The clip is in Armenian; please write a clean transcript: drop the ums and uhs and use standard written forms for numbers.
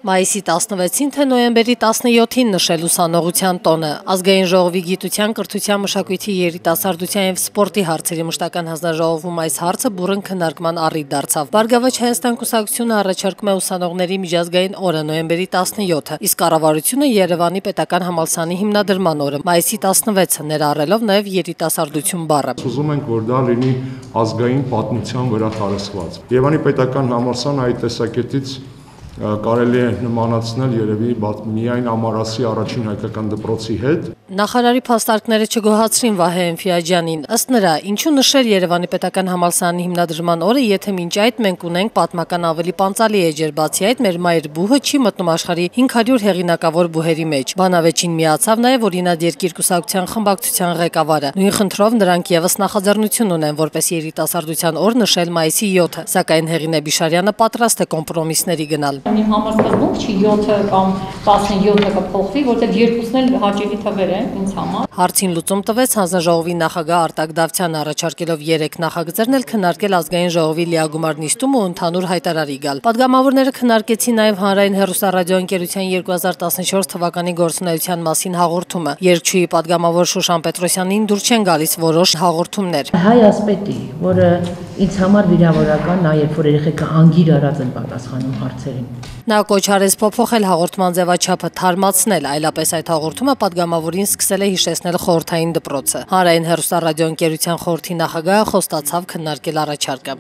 Մայիսի 16-ին թե նոյեմբերի 17-ին նշել ուսանողության տոնը։ Ազգային ժողովի գիտության, կրթության, մշակույթի, երիտասարդության եւ սպորտի հարցերի մշտական հանձնաժողովում այս հարցը բուռն քննարկման առիթ դարձավ։ Բարգավաճ Հայաստան կուսակցությունը առաջարկում է ուսանողների միջազգային օրը նոյեմբերի 17-ը, իսկ կառավարությունը Երևանի պետական համալսարանի հիմնադրման օրը մայիսի 16-ը, ներառելով նաեւ երիտասարդություն բառը։ Ուզում ենք, որ դա լինի ազգային պատմության վրա տարածված։ Երևանի պետական համալսարանը այդ տեսակետից կարելի է նմանացնել երևի միայն Ամարասի առաջին հայկական դպրոցի հետ։ Նախարարի փաստարկները չգոհացրին Վահե Էնֆիաջյանին։ Ըստ նրա, ինչու նշել Երևանի պետական համալսարանի հիմնադրման օրը, եթե մինչ այդ մենք ունենք պատմական ավելի պանծալի էջեր, բացի այդ մեր մայր բուհը չի մտնում աշխարհի 500 հեղինակավոր բուհերի մեջ։ Բանավեճին միացավ նաև Օրինաց երկիր կուսակցության խմբակցության ղեկավարը։ Նույն խնդրով նրանք եւս նախաձեռնություն ունեն որպես երիտասարդության օր նշել մայիսի 7-ը, սակայն Հեղինե Բիշարյանը պատրաստ է կոմպրոմիսների գնալ։ Իմ համար սկզբունք չի 7-ը կամ 17-ը կփոխվի, որտեղ երկուսն էլ հաճելի թվեր են ինձ համար։ Հարցին լուծում տվեց հանձնաժողովի նախագահ Արտակ Դավթյանը, առաջարկելով 3 նախագծերն էլ քննարկել ազգային ժողովի լիագումար նիստում ու ընդհանուր հայտարարի գալ։ Պատգամավորները քննարկեցին նաև հանրային հեռուստառադիոընկերության 2014 թվականի գործունեության մասին հաղորդումը։ Երգչուհի պատգամավոր Շուշան Պետրոսյանին դուր չեն գալիս որոշ հաղորդումներ։ Հայ ասպետի, որը ինձ համար վիրավորական, նաև որ երեխեքը անգիր արած են պատասխանում հարցերին։ Նա կոչ արեց փոփոխել հաղորդման ձևաչափը, թարմացնել, այլապես այդ հաղորդումը պատգամավորին սկսել է հիշեցնել խորհրդային դպրոցը։ Հանրային հեռուստառադիոընկերության խորհրդի նախագահը խոստացավ քննարկել առաջարկը։